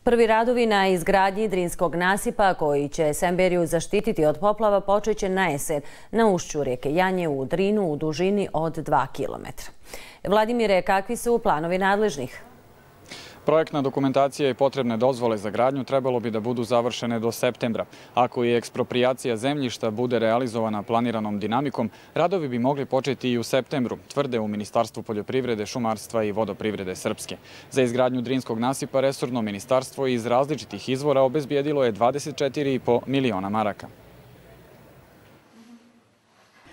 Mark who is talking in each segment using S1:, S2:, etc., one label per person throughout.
S1: Prvi radovi na izgradnji Drinskog nasipa koji će Semberiju zaštititi od poplava počeće na jesen na ušću rijeke Janje u Drinu u dužini od 2 km. Vladimire, kakvi su planovi nadležnih?
S2: Projektna dokumentacija i potrebne dozvole za gradnju trebalo bi da budu završene do septembra. Ako i eksproprijacija zemljišta bude realizovana planiranom dinamikom, radovi bi mogli početi i u septembru, tvrde u Ministarstvu poljoprivrede, šumarstva i vodoprivrede Srpske. Za izgradnju Drinskog nasipa resorno ministarstvo iz različitih izvora obezbijedilo je 24,5 miliona maraka.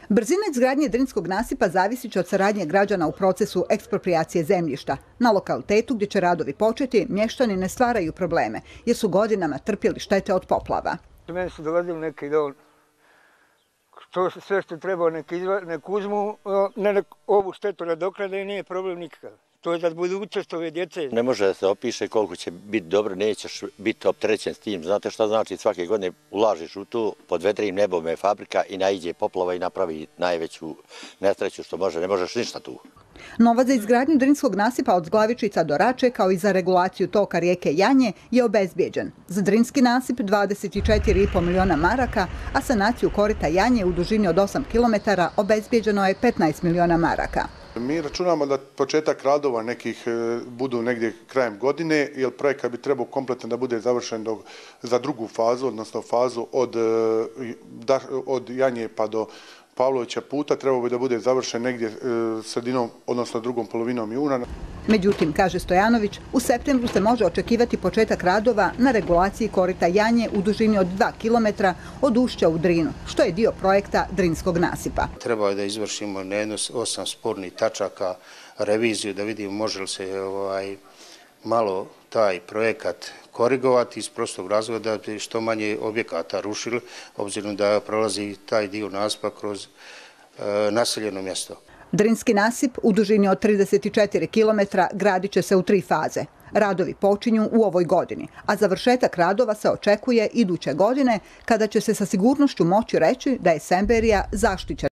S3: Brzina izgradnje Drinskog nasipa zavisit će od saradnje građana u procesu eksproprijacije zemljišta. Na lokalitetu gdje će radovi početi, mještani ne stvaraju probleme, jer su godinama trpjeli štete od poplava.
S4: Meni su dolazili neki dol, sve što treba nek uzmu, ovu štetu nadoknade i nije problem nikakav. To je za budućnost ove djece.
S5: Ne može da se opiše koliko će biti dobro, nećeš biti opterećen s tim. Znate šta znači, svake godine ulažiš u to, pod vedrim nebom je fabrika i naiđe poplava i napravi najveću nesreću što može, ne možeš ništa tu.
S3: Novac za izgradnju Drinskog nasipa od Zglavičica do Rače, kao i za regulaciju toka rijeke Janje, je obezbijeđen. Za Drinski nasip 24,5 miliona maraka, a sanaciju korita Janje u dužini od 8 km obezbijeđeno je 15 miliona maraka.
S6: Mi računamo da početak radova nekih budu negdje krajem godine, jer projekat bi trebao kompletno da bude završen za drugu fazu, odnosno fazu od Janje pa do Pavlovića puta, trebao bi da bude završen negdje sredinom, odnosno drugom polovinom juna.
S3: Međutim, kaže Stojanović, u septembru se može očekivati početak radova na regulaciji korita Janje u dužini od 2 km od ušća u Drinu, što je dio projekta Drinskog nasipa.
S7: Treba je da izvršimo na 8 spornih tačaka reviziju, da vidimo može li se malo taj projekat korigovati iz prostog razloga da bi što manje objekata rušili, obzirom da prolazi taj dio nasipa kroz naseljeno mjesto.
S3: Drinski nasip u dužini od 34 km gradit će se u 3 faze. Radovi počinju u ovoj godini, a završetak radova se očekuje iduće godine, kada će se sa sigurnošću moći reći da je Semberija zaštićena.